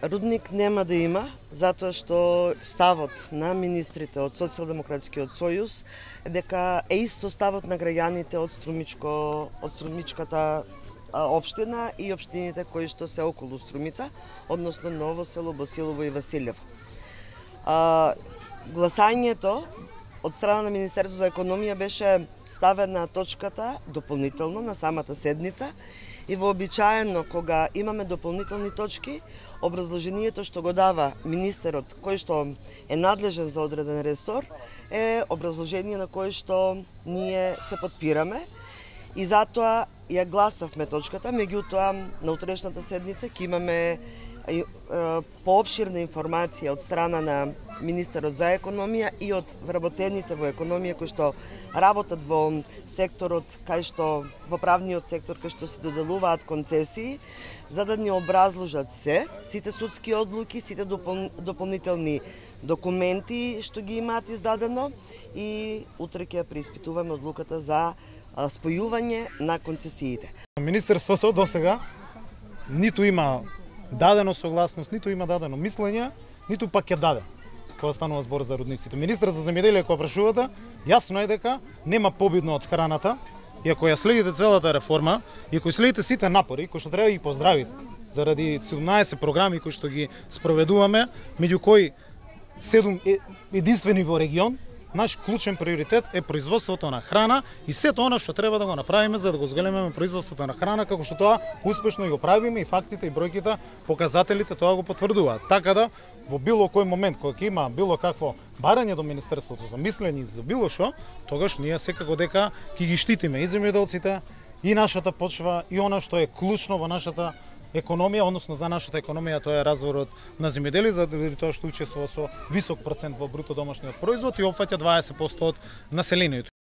Рудник нема да има, затоа што ставот на министрите од Социјалдемократскиот сојуз е дека е исто ставот на граѓаните од Струмичката општина и општините кои што се околу Струмица, односно Ново село, Босилово и Василево. Гласањето од страна на Министерството за економија беше ставена точката дополнително на самата седница и вообичаено кога имаме дополнителни точки, образложението што го дава министерот кој што е надлежен за одреден ресор е образложение на кое што ние се подпираме и затоа ја гласавме точката, меѓутоа на утрешната седница ќе имаме поопширна информација од страна на министерот за економија и од вработените во економија кои што работат во секторот кај што во правниот сектор кај што се доделуваат концесии, за да ни образложат сите судски одлуки, сите дополнителни документи што ги имаат издадено и утре ќе ја преиспитуваме одлуката за спојување на концесиите. Министерството досега ниту има дадено согласност, ниту има дадено мислење, ниту пак ќе даде кога станува збор за рудниците. Министерот за земјоделие кога прашувате, јасно е дека нема побидно од храната. И ако ја следите целата реформа, и ако следите сите напори кои што треба да ги поздравите заради 17 програми кои што ги спроведуваме, меѓу кои 7 единствени во регион, наш клучен приоритет е производството на храна и сето она што треба да го направиме за да го зголемиме производството на храна, како што тоа успешно го правиме и фактите и бројките, показателите тоа го потврдуваат. Така да во било кој момент кога ќе има било какво барање до Министерството за мислење за било што, тогаш ние секако дека ќе ги штитиме и земјоделците, и нашата почва, и она што е клучно во нашата економија, односно за нашата економија, тоа е разворот на земјоделие, заради тоа што учествува со висок процент во бруто домашниот производ и опфаќа 20% од населението.